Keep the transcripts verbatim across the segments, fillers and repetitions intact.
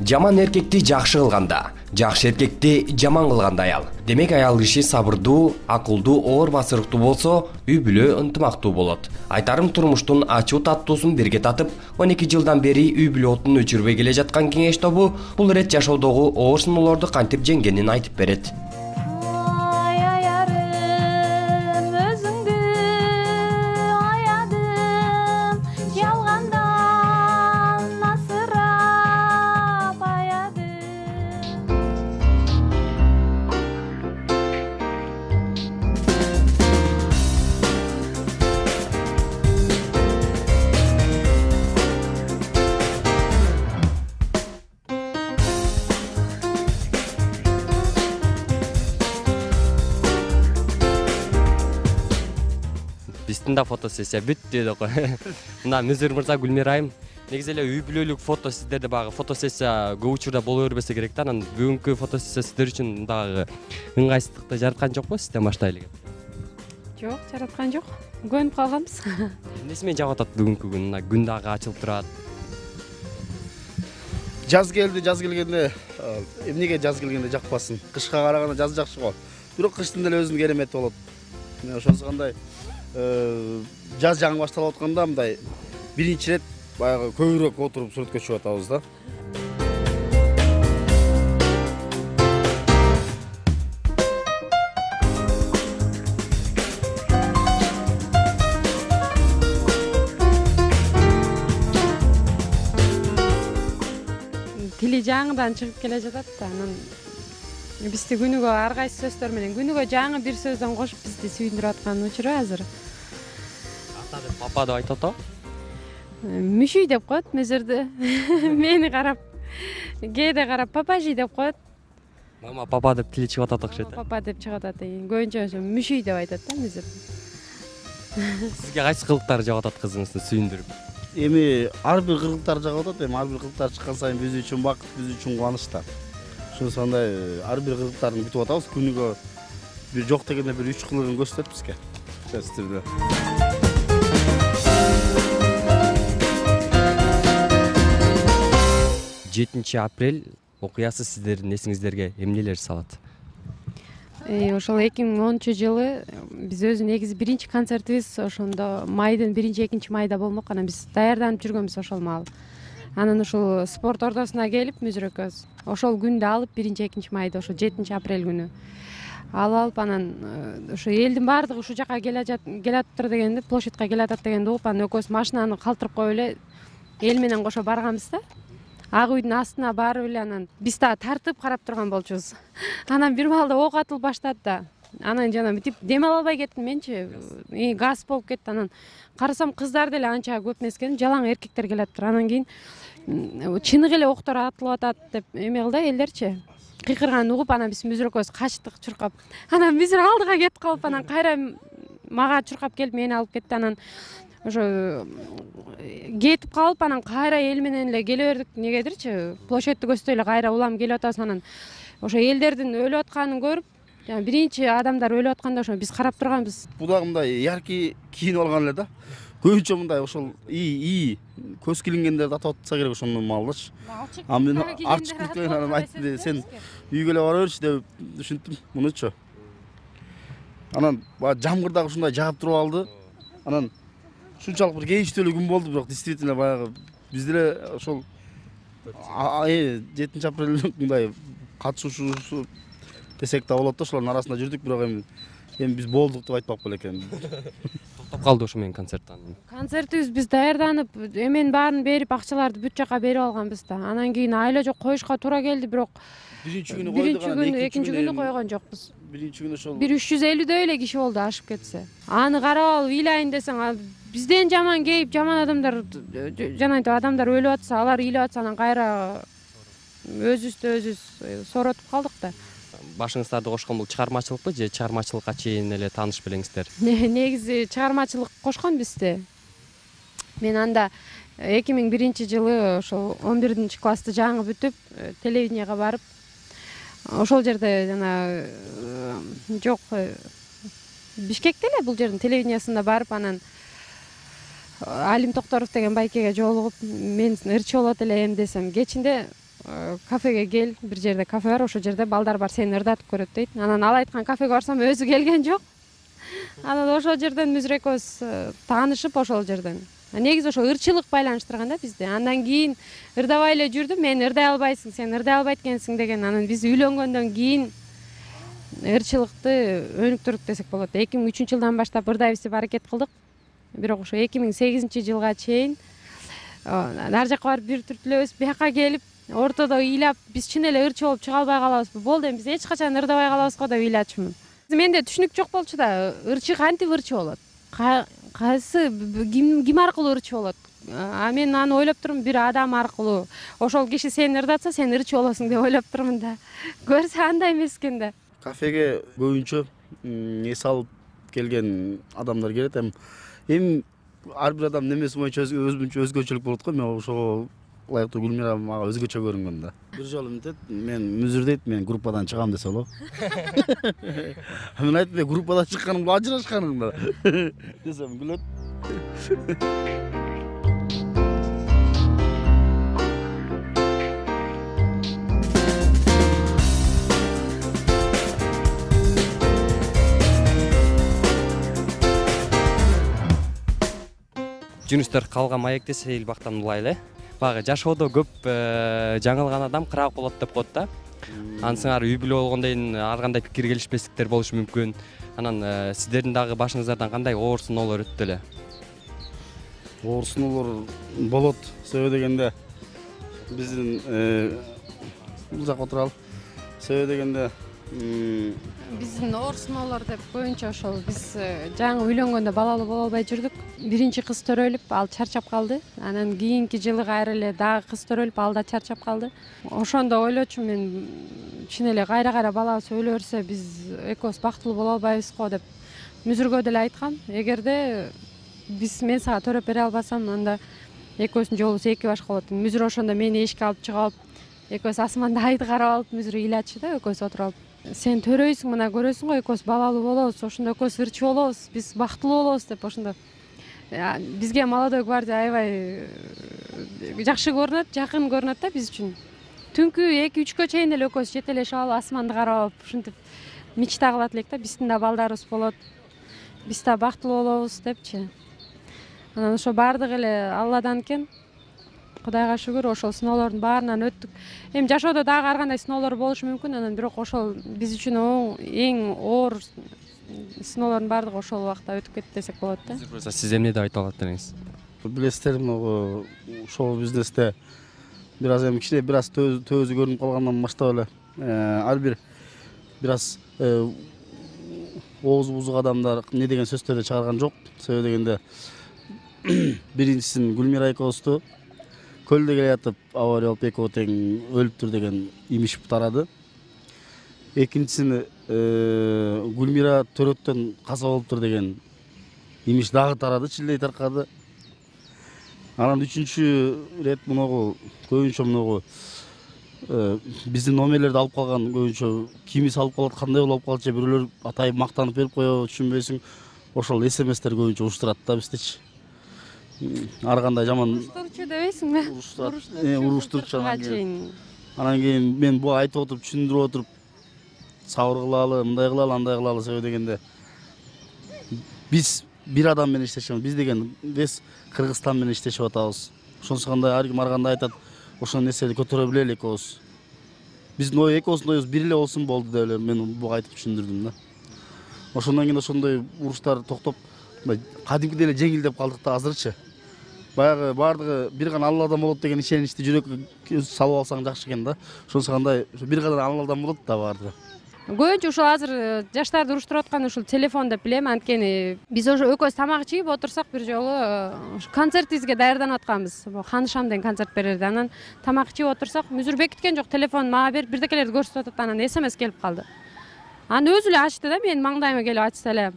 Жаман эркекти жакшы кылганда, жакшы эркекти жаман кылганда аял. Демек аял киши сабырдуу, акылдуу, оор басырыктуу болсо, үй бүлө ынтымактуу болот. Айтарым турмуштун ачуу таттуусун бирге татып, он эки жылдан бери үй бүлө отун өчүрбөй келе жаткан кеңеш тобу бул ирет жашоодогу оор сыноолорду кантип жеңгенин айтып берет. Биздин да фотосессия бүттү деп кой. Мына Мүзүр мырза, Гүлмира айым. Негизи эле үй бүлөлүк фото сиздерде багы фотосессия көп учурда боло бербесе керек да. Анан бүгүнкү фотосессия сиздер үчүн дагы ыңгайсыздыкты жараткан жокпу сизден баштайлы элек? Жок, жараткан жок. Көнүп калганбыз. Эмнеси менен жагып атат бүгүнкү күн? Мына күн дагы ачылып турат. Жаз келди, жаз келгенде эмнеге жаз келгенде жакпасын? Кышка караганда жаз жакшы го. Бирок кыштын деле өзүнүн керемети болот. Мен ошонусу кандай жаз жаңы башталып атканда мындай биринчи ирет баягы көбүрөөк отуруп сүрөткө чыгып атабыз да. Тили жаңыдан чыгып келе жатат да. Анан бизди күнүгө ар кайсы сөздөр менен күнүгө жаңы бир сөздөн кошуп бизди сүйүндүрүп аткан учуру азыр. Ата деп папа деп айтып атабы? Мүшүй деп коет Мүзүрдү. Мени карап, кээде карап папажи деп коет. Мама папа деп тили чыгып атат окшойт. Папа деп чыгып атат. Көбүнчө ошо мүшүй деп айтат да Мүзүр. Сизге кайсы кылыктар жагып атат кызыңыздын сүйүндүрүп? Эми ар бир кылыктар жагып атат, эми ар бир кылыктар чыккан сайын биз үчүн бакыт, биз үчүн кубаныч да. Ошонусу кандай ар бир кылыктарын күтүп атабыз. Күнүгө бир жок дегенде бир үч кылыгын көрсөтөт бизге. Сиздерде. жетинчи апрель окуясы сиздердин эсиңиздерге эмнелер салат? Ошол эки миң онунчу жылы биз өзү негизи биринчи концертибиз ошондо майдын биринчи экинчи майда болмок. Анан биз даярданып жүргөнбүз ошол маал. Анан ушул спорт ордосуна келип Мүзүр экөөбүз ошол күндү алып биринчи экинчи майда ошо жетинчи апрель күнү алып алып анан ошо элдин баардыгы ушул жака келатыптыр дегенде, площадька келатат дегенди угуп, анан экөөбүз машинаны калтырып коюп эле эл менен кошо барганбыз да. Ак үйдүн астына барып эле анан биз дагы тартып карап турган болчубуз. Анан бир маалда ок атылып баштады да. Анан жана мынтип дем ала албай кеттим менчи. Газ болуп кетти. Анан карасам кыздар деле анча көп эмес экен, жалаң эркектер келатыптыр. Анан кийин чыныгы эле октор атылып атат деп эме кылды элдерчи. Кыйкырганын угуп, анан биз Мүзүр экөөбүз качтык чуркап. Анан Мүзүр алдыга кетип калып, анан кайра мага чуркап келип мени алып кетти. Анан ошо кетип калып, анан кайра эл менен эле келе бердик. Негедирчи, площадьты көздөй эле кайра улам келип атабыз. Анан ошо элдердин өлүп атканын көрүп, жана биринчи адамдар өлүп атканда ошо биз карап турганбыз. Бул дагы мындай яркий кийинип алган эле да. Көбүнчө мындай ошол ии көз килингендерди атап атса керек ошондон маалдачы. А мен ачык деген анан айтты, сен үйгө эле бара берчи деп түшүндүм мунучу. Анан баягы жамгыр дагы ушундай жаап туруп алды. Анан ушунчалык бир кейиштүү күн болду, бирок действительно баягы биз деле ошол жетинчи апрель мындай катышуучусу десек да болот да, ошолордун арасында жүрдүк, бирок эми эми биз болдук деп айтпак белекем. Токтоп калды ошо менен концерттен. Концертибиз биз даярданып, эменин баарын берип, акчаларды бүт жака берип алганбыз да. Анан кийин айла жок коюшка туура келди, бирок биринчи күнү койдук, экинчи күнү койгон жокпуз. Биринчи күнү ошол бир үч жүз элүүдөй эле киши болду ашып кетсе. Аны карап алып ыйлайын десең, бизден жаман кейип, жаман адамдар, жанагынтип адамдар өлүп атса, алар ыйлап атса, анан кайра өзүбүздү өзүбүз сооротуп калдык да. Башыңыздарды кошкон бул чыгармачылыкпы же чыгармачылыкка чейин эле тааныш белеңиздер? Негизи чыгармачылык кошкон бизди. Мен анда эки миң биринчи жылы ошол он биринчи классты жаңы бүтүп, телевиденияга барып, ошол жерде жана жок Бишкекте эле бул жердин телевидениясында барып, анан Алим Токторов деген байкеге жолугуп, мен ырчы болот элем десем, кечинде кафеге кел, бир жерде кафе бар, ошол жерде балдар бар, сени ырдатып көрөт дейт. Анан ал айткан кафеге барсам өзү келген жок. Анан ошол жерден мүзүр экөөбүз таанышып, ошол жерден негизи ошо ырчылык байланыштырган да бизди. Андан кийин ырдабай эле жүрдүм, мен ырдай албайсың, сен ырдай албайт экенсиң деген. Анан биз үйлөнгөндөн кийин ырчылыкты өнүктүрдүк десек болот. эки миң үчүнчү жылдан баштап ырдайбыз деп аракет кылдык. Бирок ошо эки миң сегизинчи жылга чейин ар жакка барып бир түртүлөбүз, бияка келип ортодо ыйлап, биз чын эле ырчы болуп чыга албай калабызбы, болду эми биз эч качан ырдабай калабыз го деп ыйлачумун. Менде түшүнүк жок болчу да, ырчы кантип ырчы болот, кайсы ким ким аркылуу ырчы болот. А мен аны ойлоп турмун, бир адам аркылуу. Ошол киши сени ырдатса, сен ырчы болосуң деп ойлоп турмун да. Көрсө андай эмес экен да. Кафеге көбүнчө эс алып келген адамдар келет. Эми эми ар бир адам немеси боюнча өзүнчө өзгөчөлүк болот го. Мен ошого ылайыктуу Гүлмира мага өзгөчө көрүнгөн да. Бир жолу мынтет, мен мүзүр дейт, мен группадан чыгам десе болобу. Мен айттым, группадан чыкканымда ажырашканың да десем күлөт. Жөнүстөр калган маекте Сейил Бактан улайлы. Багы жашоодо көп жаңылган адам кыраак болот деп коет да. Ансыңар үй бүлө болгондон кийин ар кандай пикир келишпестиктер болушу мүмкүн. Анан сиздердин дагы башыңыздардан кандай оор сыноолор өттү эле? Оор сыноолор болот. Себеби дегенде биздин бул жакка отуралы. Себеби дегенде биздин оор сыноолор деп көбүнчө ошол биз жаңы үйлөнгөндө балалуу боло албай жүрдүк. Биринчи кыз төрөлүп, ал чарчап калды. Анан кийинки жылы кайра эле дагы кыз төрөлүп, ал да чарчап калды. Ошондо ойлочумун, мен чын эле кайра-кайра балабыз өлө берсе, биз экөөбүз бактылуу боло албайбыз го деп мүзүргө деле айткам. Эгерде биз мен сага төрөп бере албасам, анда экөөбүздүн жолубуз эки башка болот. Мүзүр ошондо мени эшикке алып чыгып алып, экөөбүз асманда айды карап алып, мүзүр ыйлачы да, экөөбүз отуруп алып. Сен төрөйсүң, мына көрөсүң го, экөөбүз балалуу болобуз, ошондо экөөбүз ырчы болобуз, биз бактылуу болобуз деп ошондо бизге Молодой гвардия аябай жакшы көрүнөт, жакын көрүнөт да биз үчүн. Түнкү эки үчкө чейин эле экөөбүз жетелешип алып, асманды карап, ушинтип мечта кылат элек да, биздин да балдарыбыз болот, биз да бактылуу болобуз депчи. Анан ошо баардыгы эле Алладан экен. Кудайга шүгүр, ошол сыноолордун баарынан өттүк. Эми жашоодо дагы ар кандай сыноолор болушу мүмкүн, анан бирок ошол биз үчүн эң оор сыноолордун баардыгы ошол убакта өтүп кетти десек болот да. Сиз эмне деп айта алат элеңиз? Билесиздер, могу шоу бизнесте бир аз эми кичине бир аз төөзү көрүнүп калгандан баштап эле ар бир бир аз оозу бузук адамдар не деген сөздөрдү чыгарган жок. Себеби дегенде биринчисин Гүлмира экөөбүздү көлдө келе жатып авария болуп экөө тең өлүптүр деген имиш тарады. Экинчисини Гүлмира төрөттөн каза болуптур деген имиш дагы тарады, чилдей таркады. Анан үчүнчү рет муногу көбүнчө муногу биздин номерлерди алып калган көбүнчө кимиси алып калат, кандай болуп алып калчу, бирөөлөр атайып мактанып берип коебу, түшүнбөйсүң. Ошол смстер көбүнчө уруштурат да биздичи. Ар кандай жаман уруштурчу дебейсиңби? Уруштурчу. Анан кийин мен буга айтып отуруп, түшүндүрүп отуруп, сабыр кылалы, мындай кылалы, андай кылалы, себеби дегенде биз бир адам менен иштешебиз. Биз деген биз Кыргызстан менен иштешип атабыз. Ошонсу кандай ар ким ар кандай айтат, ошол нерсени көтөрө билели экөөбүз. Биздин ой экөөбүздүн оюбуз бир эле болсун болду деп эле мен буга айтып түшүндүрдүм да. Ошондон кийин ошондой уруштар токтоп, кадимкидей эле жеңилдеп калдык да азырчы. Баягы баардыгы бир гана Алладан болот деген ишеничти жүрөккө салып алсаң жакшы экен да. Ошонсу кандай бир гана Алладан болот да баардыгы. Көбүнчө ушул азыр жаштарды уруштуруп аткан ушул телефон деп билем, анткени биз ошо экөөбүз тамак ичип отурсак бир жолу концертибизге даярданып атканбыз. Ханышам деген концерт берерди. Анан тамак ичип отурсак, мүзүр бекиткен жок, телефон мага берип бирдекелерди көрсөтүп атат. Анан смс келип калды. Анан өзү эле ачты да, менин маңдайыма келип ачса эле,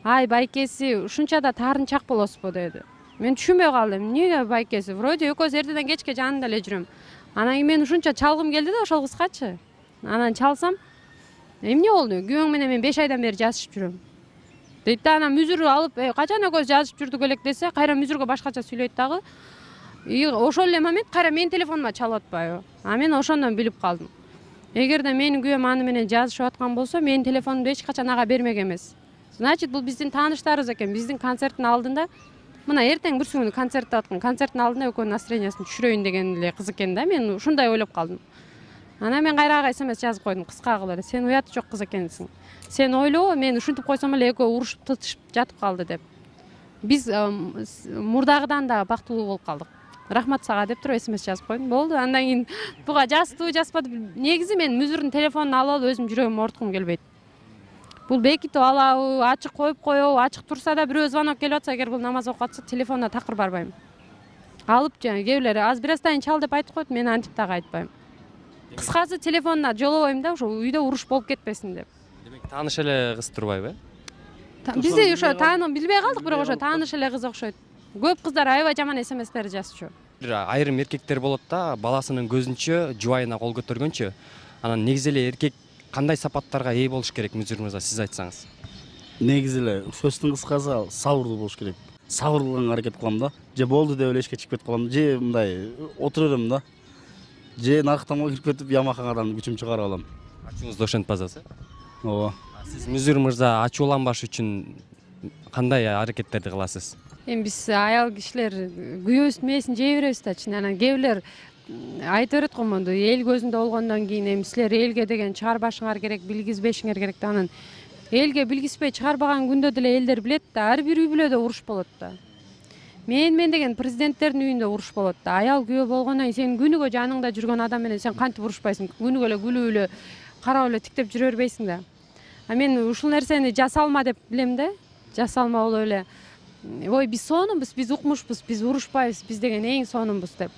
ай байкеси, ушунча да таарынчак болосузбу деди. Мен түшүнбөй калдым. Эмнеге байкеси? Вроде экөөбүз эртеден кечке жанында эле жүрөм. Анан кийин мен ушунча чалгым келди да ошол кызгачы. Анан чалсам, эмне болду? Күйөөң менен мен беш айдан бери жазышып жүрөм. Дейт да, анан мүзүр алып, качан экөөбүз жазышып жүрдүк элек десе, кайра мүзүргө башкача сүйлөйт дагы. И ошол эле момент кайра менин телефонума чалып атпайбы, а мен ошондон билип калдым. Эгерде менин күйөөм аны менен жазышып аткан болсо, менин телефонумду эч качан ага бермек эмес. Значит, бул биздин тааныштарыбыз экен. Биздин концерттин алдында, мына эртең бүрсү күнү концерт деп аткан, концерттин алдында экөөнүн настроениясын түшүрөйүн деген эле кыз экен да. Мен ушундай ойлоп калдым. Анан мен кайра ага смс жазып койдум, кыска кылып эле. Сен уяты жок кыз экенсиң. Сен ойлобо, мен ушинтип койсом эле экөө урушуп тытышып жатып калды деп. Биз мурдагыдан да бактылуу болуп калдык. Рахмат сага деп туруп смс жазып койдум. Болду. Андан кийин буга жаздыбы, жазбады. Негизи мен Мүзүрдүн телефонун алып алып өзүм жүрөгүмө ооруткум келбейт. Бул бекитип алабы, ачык коюп коебу, ачык турса да бирөө звонок келип атса, эгер бул намаз окуп атса, телефонуна такыр барбайм. Алып жана кээ бирлери аз бир астайын чал деп айтып коет, мен антип дагы айтпайм. Кыскасы телефонуна жолобойм да, ошо үйдө уруш болуп кетпесин деп. Демек тааныш эле кыз турбайбы? Бизде ошо таанып билбей калдык, бирок ошо тааныш эле кыз окшойт. Көп кыздар аябай жаман смстер жазчу. Айрым эркектер болот да, баласынын көзүнчө жубайына кол көтөргөнчү. Анан негизи эле эркек кандай сапаттарга ээ болуш керек, Мүзүр мырза, сиз айтсаңыз? Негизи эле сөздүн кыскасы сабырдуу болуш керек. Сабыр кылганга аракет кылам да. Же болду деп эле эшикке чыгып кетип калам, же мындай отура берем да. Же нарыктамага кирип кетип ямакадан күчүм чыгарып алам. Ачууңузду ошентип базасы? Ооба. Сиз Мүзүр мырза ачууланбаш үчүн кандай аракеттерди кыласыз? Эми биз аял кишилер күйөөбүздүн мээсин жей беребиз да, чын. Анан кээ бирлер айтып берет го, монду эл көзүндө болгондон кийин эми силер элге деген чыгарбашыңар керек, билгизбешиңер керек да. Анан элге билгизбей чыгарбаган күндө деле элдер билет да, ар бир үй бүлөдө уруш болот да. Мен мен деген президенттердин үйүндө уруш болот да. Аял күйөө болгондон кийин сен күнүгө жаныңда жүргөн адам менен сен кантип урушпайсың? Күнүгө эле күлүп эле, карап эле тиктеп жүрө бербейсиң да. А мен ушул нерсени жасалма деп билем да. Жасалма болуп эле, ой биз сонунбуз, биз укмушпуз, биз урушпайбыз, биз деген эң сонунбуз деп.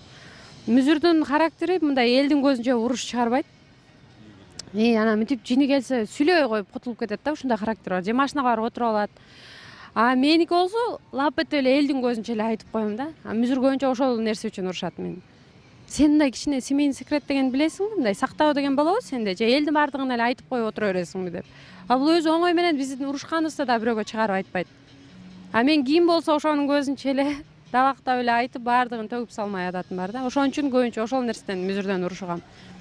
Мүзүрдүн характери мындай элдин көзүнчө уруш чыгарбайт. И анан мынтип жини келсе сүйлөбөй коюп кутулуп кетет да, ушундай характер бар. Же машинага барып отуруп алат. А меники болсо лап этип эле элдин көзүнчө эле айтып коем да. А Мүзүр көбүнчө ошол нерсе үчүн урушат мени. Сен мындай кичине семейный секрет деген билесиңби? Мындай сактоо деген болобу сенде? Же элдин баардыгын эле айтып коюп отура бересиңби деп. А бул өзү оңой менен биздин урушканыбызды да бирөөгө чыгарып айтпайт. А мен ким болсо ошонун көзүнчө эле dabактап эле айтып баардыгын төгүп салмай адатым бар да. Ошон үчүн көбүнчө ошол нерседен Мүзүрдөн урушгам.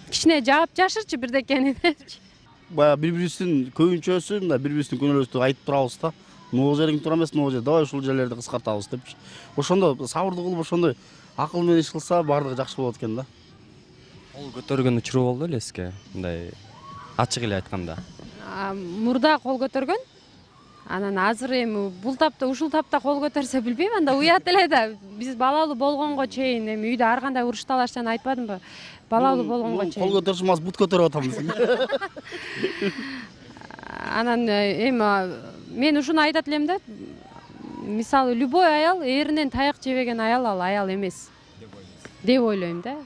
Кичине жаап жашырчы бирдекени депчи. Баягы бири-бирибиздин көбүнчөсү мындай бири-бирибиздин күнөөлөрүбүздү айтып турабыз да. Могу жериң туура эмес, могу жер давай ушул жерлерди кыскартабыз депчи. Ошондо сабырдуу кылып, ошондой акыл менен иш кылса баардыгы жакшы болот экен да. Кол көтөргөн учуру болду эле сизге? Мындай ачык эле айтканда. Мурда кол көтөргөн. Анан азыр эми бул тапта, ушул тапта кол көтөрсө билбейм, анда уят эле да. Биз балалуу болгонго чейин эми үйдө ар кандай уруш талаштан айтпадымбы? Балалуу болгонго чейин. Кол көтөрүш эмес, бут көтөрүп атабыз. Анан эми мен ушуну айтат элем да. Мисалы, любой аял эринен таяк жебеген аял ал аял эмес деп ойлойм да.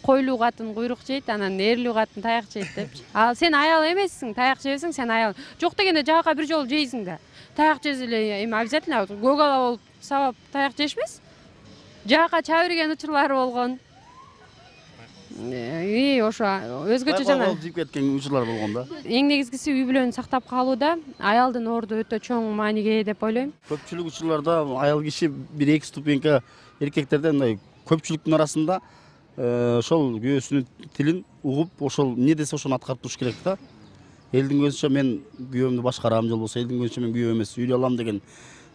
Койлуу катын куйрук жейт, анан эрлүү катын таяк жейт депчи. Ал сен аял эмессиң, таяк жебесең, сен аял. Жок дегенде жака бир жолу жейсиң да. Таяк жезе эле эми обязательно көгала болуп сабап таяк жешпес. Жака чаба берген учурлары болгон. И ошо өзгөчө жана жеп кеткен учурлар болгон да. Эң негизгиси үй бүлөнү сактап калууда аялдын орду өтө чоң мааниге ээ деп ойлойм. Көпчүлүк учурларда аял киши бир эки ступенька эркектерде мындай көпчүлүктүн арасында ошол күйөөсүнүн тилин угуп, ошол эмне десе ошону аткарып туруш керек да. Элдин көзүнчө мен күйөөмдү башкарам, же болбосо элдин көзүнчө мен күйөө эмес, үйлөй алам деген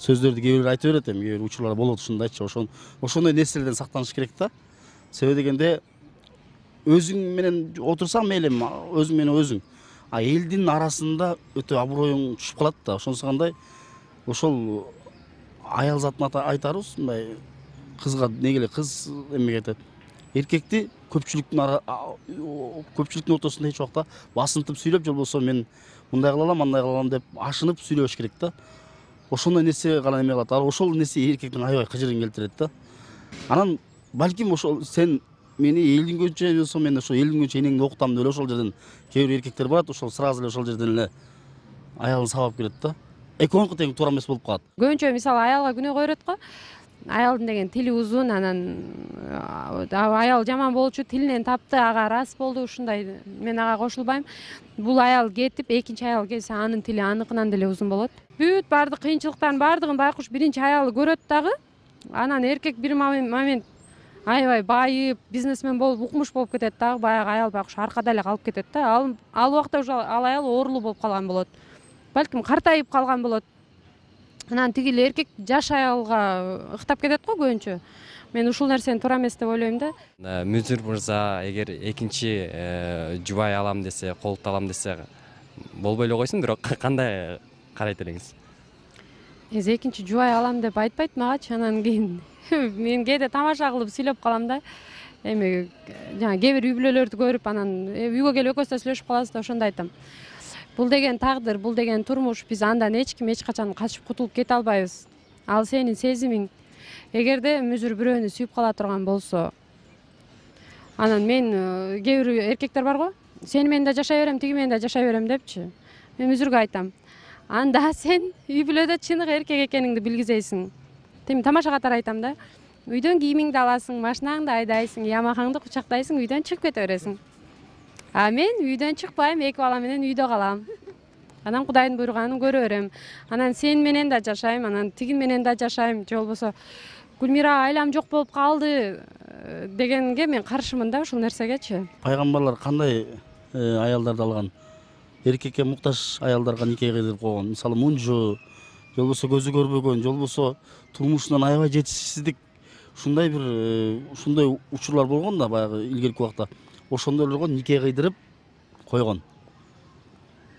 сөздөрдү кээ бирөө айтып берет, эми кээ бир учурлар болот ушундайчы. Ошон ошондой нерселерден сактаныш керек да. Себеби дегенде өзүң менен отурсаң мейли, өзүң менен өзүң. А элдин арасында өтө аброюң түшүп калат да. Ошонусу кандай ошол аял затын айтарбыз, мындай кызга негеле кыз эмеге айтат. Эркекти көпчүлүктүн ара көпчүлүктүн ортосунда эч убакта басынтып сүйлөп, же болбосо мен мындай кыла алам, андай кыла алам деп ашынып сүйлөбөш керек да. Ошондой нерсе гана эме кылат. Ошол нерсе эркектин аябай кыжырын келтирет да. Анан балким ошол сен мени элдин көзүнчө болсо мен ошол элдин көзүнчө энеңди окутам деп эле ошол жерден кээ бир эркектер барат, ошол сразу эле ошол жерден эле аялын сабап келет да. Экөөнүкү тең туура эмес болуп калат. Көбүнчө мисалы аялга күнөө койрот го. Аялдын деген тили узун, анан аял жаман болчу, тилинен тапты, ага рас болду, ушундай. Мен ага кошулбайм. Бул аял кетип, экинчи аял келсе, анын тили аныкынан деле узун болот. Бүт баардык кыйынчылыктардын баардыгын байкуш биринчи аялы көрөт дагы. Анан эркек бир момент аябай байып бизнесмен болуп укмуш болуп кетет дагы, баягы аял байкуш аркада эле калып кетет да. Ал ал убакта уже ал аял оорулуу болуп калган болот. Балким картайып калган болот. Анан тиги эле эркек жаш аялга ыктап кетет го көбүнчө. Мен ушул нерсени туура эмес деп ойлойм да. Мүзүр мырза эгер экинчи жубай алам десе, колдук алам десе болбой эле койсун, бирок кандай карайт элеңиз? Эзи экинчи жубай алам деп айтпайт магачы, анан кийин мен кээде тамаша кылып сүйлөп калам да. Эми жана кээ бир үй бүлөлөрдү көрүп анан үйгө келип экөөбүз да сүйлөшүп калабыз да, ошондо айтам. Бул деген тагдыр, бул деген турмуш, биз андан эч ким эч качан качып кутулуп кете албайбыз. Ал сенин сезимиң. Эгерде мүзүр бирөөнү сүйүп кала турган болсо, анан мен кээ бир эркектер бар го, сени менен да жашай берем, тиги менен да жашай берем депчи. Мен мүзүргө айтам, анда сен үй бүлөдө чыныгы эркек экениңди билгизесиң. Тем тамаша катары айтам да. Үйдөн кийимиңди аласың, машинаңды айдайсың, ямакаңды кучактайсың, үйдөн чыгып кете бересиң. А мен үйдөн чыкпайм, эки бала менен үйдө калам. Анан Кудайдын буйруганын көрө берем. Анан сен менен да жашайм, анан тигин менен да жашайм, же болбосо Гүлмира айлам жок болуп калды дегенге мен каршымын да ушул нерсегечи. Пайгамбарлар кандай аялдарды алган? Эркекке муктаж аялдарга нике кыйдырып койгон. Мисалы мунжу, же болбосо көзү көрбөгөн, же болбосо турмушунан аябай жетишсиздик, ушундай бир ушундай учурлар болгон да баягы илгерки убакта. Ошондойлорго нике кыйдырып койгон.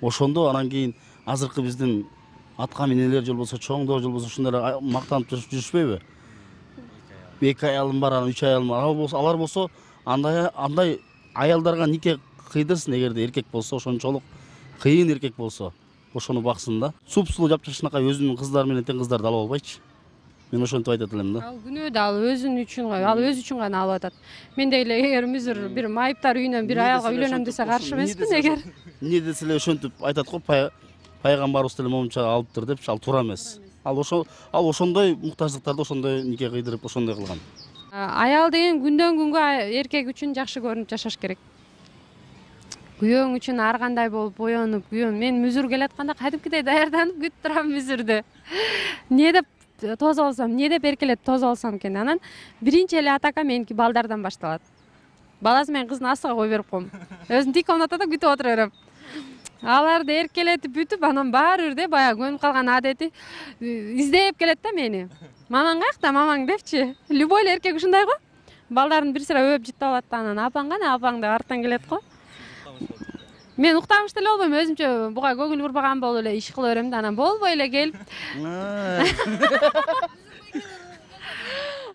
Ошондо анан кийин азыркы биздин атка минелер, же болбосо чоңдор, же болбосо ушундай мактанып жүрүшпөйбү? Эки аялым бар, анан үч аялым бар. Алар болсо андай андай аялдарга нике кыйдырсын, эгерде эркек болсо, ошончолук кыйын эркек болсо, ошону баксын да. Супсулуу жапжашынакай өзүнүн кыздары менен тең кыздарды алып албайчы. Мен ошентип айтат элем да. Ал күнөө да ал өзүнүн үчүн, ал өзү үчүн гана алып атат. Мен деле эгер мүзүр бир майыптар үйүнөн бир аялга үйлөнөм десе каршы эмесмин эгер. Эмне десе эле ошентип айтат го, пайгамбарыбыз деле момунча алыптыр депчи, ал туура эмес. Ал ошо ал ошондой муктаждыктарды ошондой нике кыйдырып ошондой кылган. Аял деген күндөн күнгө эркек үчүн жакшы көрүнүп жашаш керек. Күйөөң үчүн ар кандай болуп боенуп, күйөөм мен мүзүр келатканда кадимкидей даярданып күтүп турам мүзүрдү. Эмне деп тосуп алсам, эмне деп эркелеп тосуп алсам экен. Анан биринчи эле атака меники балдардан башталат. Баласы менен кыздын астыга коюп берип коем. Өзүм тик комнатада күтүп отура берем. Аларды эркелетип бүтүп, анан баары бир баягы көнүп калган адети издеп келет да мени. Мамаң каякта, мамаң депчи. Любой эле эркек ушундай го. Балдарын бир сыра өп жыттап алат да, анан апаң кана, апаң деп арттан келет го. Мен уктамыш деле болбойм, өзүмчө буга көңүл бурбаган болуп эле иш кыла берем да, анан болбой эле келип.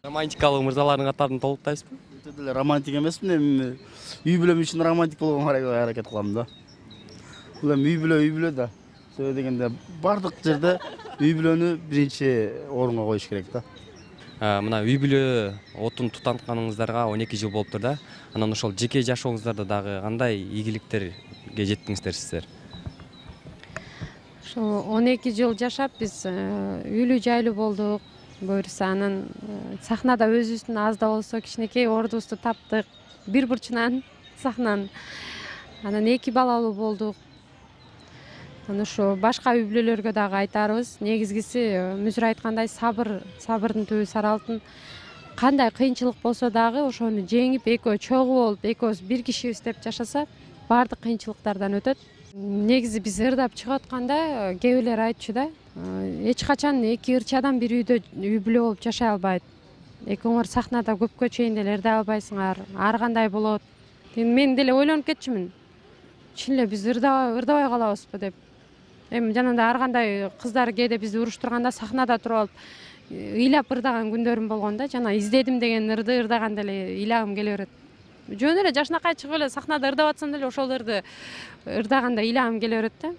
Романтикалык мырзалардын катарын толуктайсызбы? Өтө деле романтик эмесмин, эми үй бүлөм үчүн романтик болгонго аракет кылам да. Бул эми үй бүлө, үй бүлө да. Сөзү дегенде бардык жерде үй бүлөнү биринчи орунга коюш керек да. Мына үй бүлө отун тутантканыңыздарга он эки жыл болуптур да. Анан ошол жеке жашооңуздарда дагы кандай ийгиликтерге жеттиңиздер сиздер? Ошо он эки жыл жашап биз үйлүү жайлуу болдук. Буюрса анан сахнада өзүбүздүн аз да болсо кичинекей ордубузду таптык. Бир бурчунан сахнанын. Анан эки балалуу болдук. Анан ошо башка үй бүлөлөргө дагы айтарыбыз, негизгиси мүзүр айткандай сабыр, сабырдын түбү сары алтын. Кандай кыйынчылык болсо дагы ошону жеңип, экөө чогуу болуп, экөөбүз бир кишибиз деп жашаса, баардык кыйынчылыктардан өтөт. Негизи биз ырдап чыгып атканда кээ бирлер айтчу да, эч качан эки ырчы адам бир үйдө үй бүлө болуп жашай албайт. Экөөңөр сахнада көпкө чейин деле ырдай албайсыңар, ар кандай болот. Мен деле ойлонуп кетчүмүн. Чын эле биз ырдабай калабызбы деп. Эми жанагындай ар кандай кыздар кээде бизди уруштурганда сахнада туруп алып ыйлап ырдаган күндөрүм болгон да. Жана издедим деген ырды ырдаганда эле ыйлагым келе берет. Жөн эле жашынакай чыгып эле сахнада ырдап атсам деле ошол ырды ырдаганда ыйлагым келе берет да.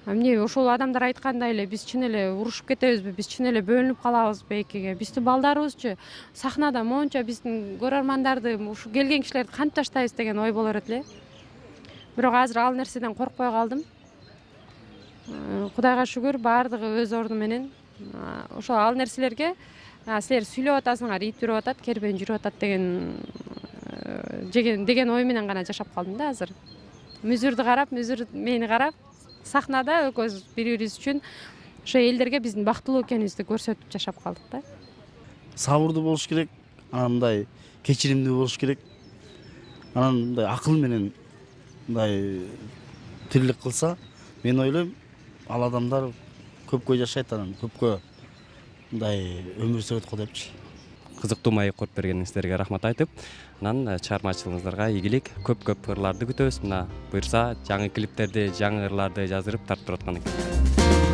Эмне ошол адамдар айткандай эле биз чын эле урушуп кетебизби, биз чын эле бөлүнүп калабызбы экиге? Биздин балдарыбызчы сахнада монча биздин көрөрмандарды, ушу келген кишилерди кантип таштайбыз деген ой боло берет эле. Бирок азыр ал нерседен коркпой калдым. Кудайга шүгүр, баардыгы өз орду менен. Ошо ал нерселерге силер сүйлөп атасыңар, ит жүрүп атат, кербен жүрүп атат деген деген ой менен гана жашап калдым да азыр. Мүзүрдү карап, мүзүр мени карап, сахнада экөөбүз бири-бирибиз үчүн ошо элдерге биздин бактылуу экенибизди көрсөтүп жашап калдык да. Сабырдуу болуш керек, анан мындай кечиримдүү болуш керек, анан мындай акыл менен мындай тирлик кылса, мен ойлойм, ал адамдар көпкө жашайт, анан көпкө мындай өмүр сүрөт го депчи. Кызыктуу маек коюп бергениңиздерге рахмат айтып, анан чыгармачылыгыңыздарга ийгилик, көп-көп ырларды күтөбүз. Мына буюрса жаңы клиптерди, жаңы ырларды жаздырып тартып тураткан экен.